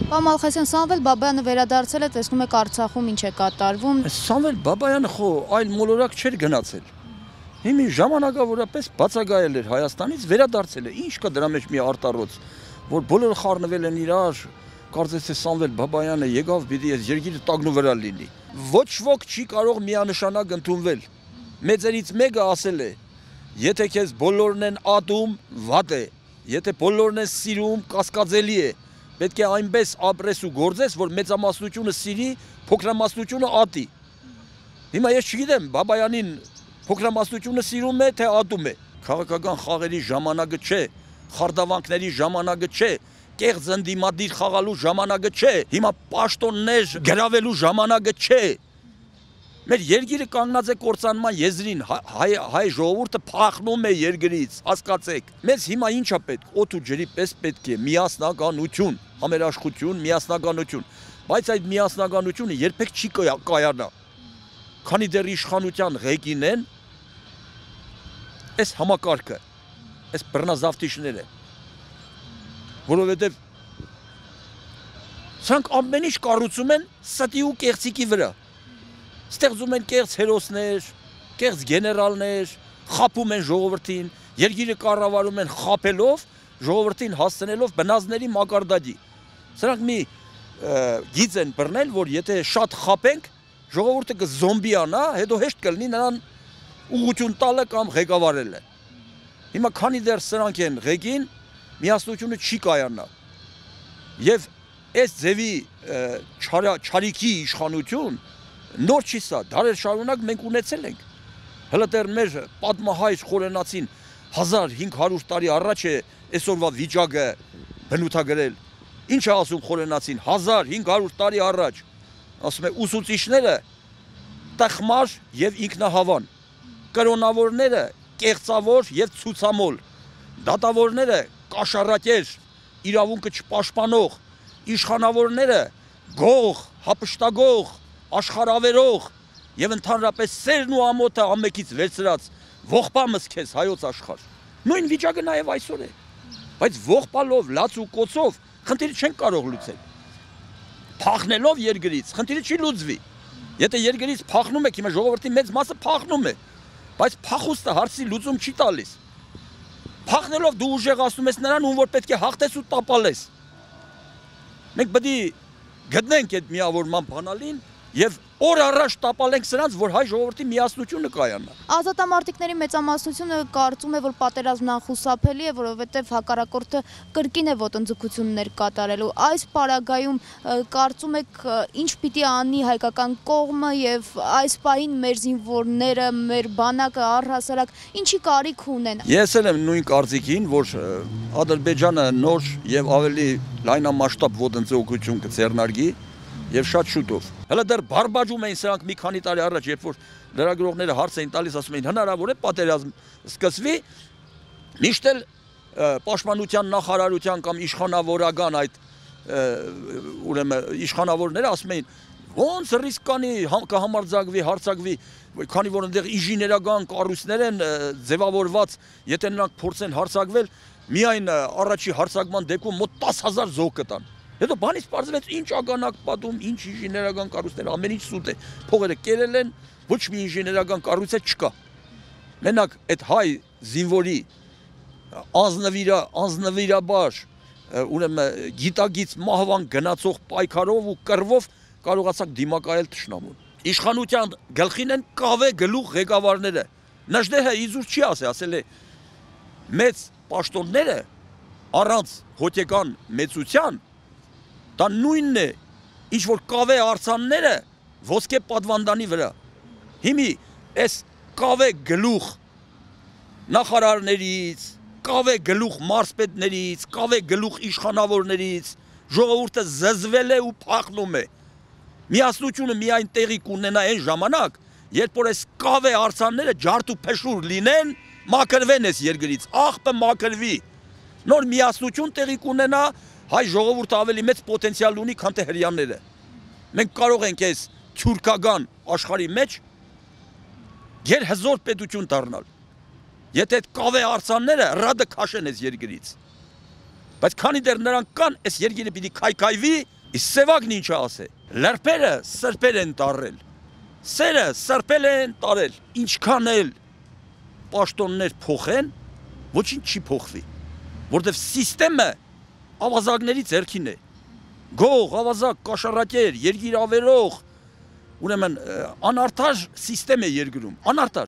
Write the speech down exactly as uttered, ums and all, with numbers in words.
Պարոն Մալխասյան, Սամվել Բաբայանը վերադարձել է, տեսնում եք Արցախում ինչ է կատարվում։ Սամվել Բաբայանը խո այլ մոլորակ չէր գնացել։ Հիմի ժամանակավորապես բացակայել էր Հայաստանից, վերադարձել է։ Ինչ կա դրա մեջ մի արտառոց, որ բոլորը խառնվել են իրար, կարծես թե Սամվել Բաբայանը եկավ պիտի այս երկիրը տագնու վրա լինի։ Ոչ ոք չի կարող միանշանակ ընդունվել։ Մեծերից մեկը ասել է. եթե քեզ բոլորն են ատում, վատ է, եթե բոլորն են սիրում, կասկածելի է։ Պետք է այնպես ապրես ու գործես, որ մեծամասնությունը սիրի, փոքրամասնությունը ատի։ Հիմա ես չգիտեմ, Բաբայանին փոքրամասնությունը սիրում է, թե ատում է։ Քաղաքական խաղերի ժամանակը չէ, խարդավանքների ժամանակը չէ, կեղծ ընդդիմադիր խաղալու ժամանակը չէ, հիմա պաշտոններ գրավելու ժամանակը չէ։ Մեր երկիրը կանգնած է կործանման եզրին, հայ, հայ ժողովուրդը փախնում է երկրից, հասկացեք։ Մեզ հիմա ինչա պետք, օդ ու ջրի պես պետք է միասնականություն, համերաշխություն, միասնականություն, բայց այդ միասնականությունը երբեք չի կայանա։ Քանի դեռ իշխանության ղեկին են, այս համակարգը, այս բռնազավթիչները, որովհետև սրանք ամեն ինչ կառուցում են ստի ու կեղծիկի վրա։ Ստեղծում են կեղծ հերոսներ, կեղծ գեներալներ, խաբում են ժողովրդին, երկիրը կառավարում են խաբելով, ժողովրդին հասցնելով բնազների մակարդակի։ Սրանք մի գիծ են բռնել, որ եթե շատ խաբենք, ժողովուրդը կզոմբիանա, հետո հեշտ կլինի նրան ուղղություն տալը կամ ղեկավարելը։ Հիմա քանի դեռ սրանք են ղեկին, միասնությունը չի կայանա։ Եվ այս ձևի չարիքի իշխանություն նոր չի սա, դարեր շարունակ մենք ունեցել ենք։ Հələ դեռ մեր պատմահայր խորենացին հազար հինգ հարյուր տարի առաջ է այսօրվա վիճակը բնութագրել։ Ինչ է ասում խորենացին հազար հինգ հարյուր տարի առաջ։ Ասում է ուսուցիչները տխմար եւ ինքնահավան, կրոնավորները կեղծավոր եւ ցուցամոլ, դատավորները կաշառակեր, իրավունքը չպաշտպանող, իշխանավորները գող, հապշտագող, աշխարհավերող եւ ընդհանրապես սերն ու ամոթը ամեկից վերցրած ողբամս քեզ հայոց աշխարհ։ Նույն վիճակը նաեւ այսօր է։ Բայց ողբալով, լաց ու կոցով խնդիրը չեն կարող լուծել։ Փախնելով երկրից խնդիրը չի լուծվի։ Եթե երկրից փախնում եք, հիմա ժողովրդի մեծ մասը փախնում է, բայց փախուստը հարցի լուծում չի տալիս։ Փախնելով դու ուժեղացնում ես նրան, ում որ պետք է հաղթես ու տապալես։ Մենք պետք է գտնենք այդ միավորման բանալին եւ օր առաջ տապալենք սրանց, որ հայ ժողովրդի միասնությունը կայանա։ Ազատամարտիկների մեծամասնությունը կարծում է, որ պատերազմն անխուսափելի է, որովհետև հակառակորդը կրկին է ոտնձգություններ կատարելու։ Այս պարագայում կարծում եք ինչ պիտի անի հայկական կողմը եւ այս պահին մեր զինվորները, մեր բանակը առհասարակ ինչի կարիք ունեն։ Ես էլ եմ նույն կարծիքին, որ Ադրբեջանը նոր եւ ավելի լայնամասշտաբ ոտնձգություն կձեռնարկի եւ շատ շուտով։ Հələ դեռ բարբաջում էին սրանք մի քանի տարի առաջ, երբ որ լրագրողները հարց էին տալիս, ասում էին հնարավոր է պատերազմ սկսվի, միշտ էլ պաշտպանության նախարարության կամ իշխանավորական այդ ուրեմն իշխանավորները ասում էին ոնց ռիսկ կանի կհամարձակվի, հարցակվի, քանի որ այնտեղ ինժեներական կառույցներ են ձևավորված, եթե նրանք փորձեն հարցակվել, միայն առաջի հարցակման դեպքում մոտ տասը հազար զոհ կտան։ Հետո բանից պարզվեց ինչ ագանակ պատում, ինչ ինժեներական կառույցներ, ամեն ինչ սուտ է։ Փողերը կերել են, ոչ մի ինժեներական կառույց չկա։ Մենակ այդ հայ զինվորի անձնվիրա, անձնվիրաբար, ուրեմն գիտագից մահվան գնացող պայքարով ու կռվով կարողացակ դիմակայել թշնամուն։ Իշխանության գլխին են կավե գլուխ ղեկավարները։ Նժդեհը իզուր չի ասել, ասել է մեծ պաշտոնները առանց հոգեկան մեծության դա նույնն է, ինչ որ կավե արձանները ոսկե պատվանդանի վրա։ Հիմի այս կավե գլուխ նախարարներից, կավե գլուխ մարզպետներից, կավե գլուխ իշխանավորներից ժողովուրդը զզվել է ու փախնում է։ Միասնությունը միայն տեղի կունենա այն ժամանակ, երբ որ այս կավե արձանները ջարդ ու փշուր լինեն, մաքրվեն այս երկրից, աղբը մաքրվի։ Նոր միասնություն տեղի կունենա, հայ ժողովուրդը ավելի մեծ պոտենցիալ ունի, քան թե հրեաները։ Մենք կարող ենք այս թյուրքական աշխարհի մեջ գերհզոր պետություն դառնալ։ Եթե այդ կավե արձանները ռադը քաշեն այս երկրից։ Բայց քանի դեռ նրանք կան, այս երկիրը պիտի քայքայվի, իսկ սևակն ինչ ասե։ Լրպերը սրպեր են տարել։ Սերը սրպել են տարել։ Ինչքան էլ պաշտոններ փոխեն, ոչինչ չի փոխվի, որտեվ սիստեմը ավազակների ձեռքին է։ Գող, ավազակ, կաշառակեր, երկիր ավերող, ուրեմն անարդար սիստեմ է երկրում, անարդար։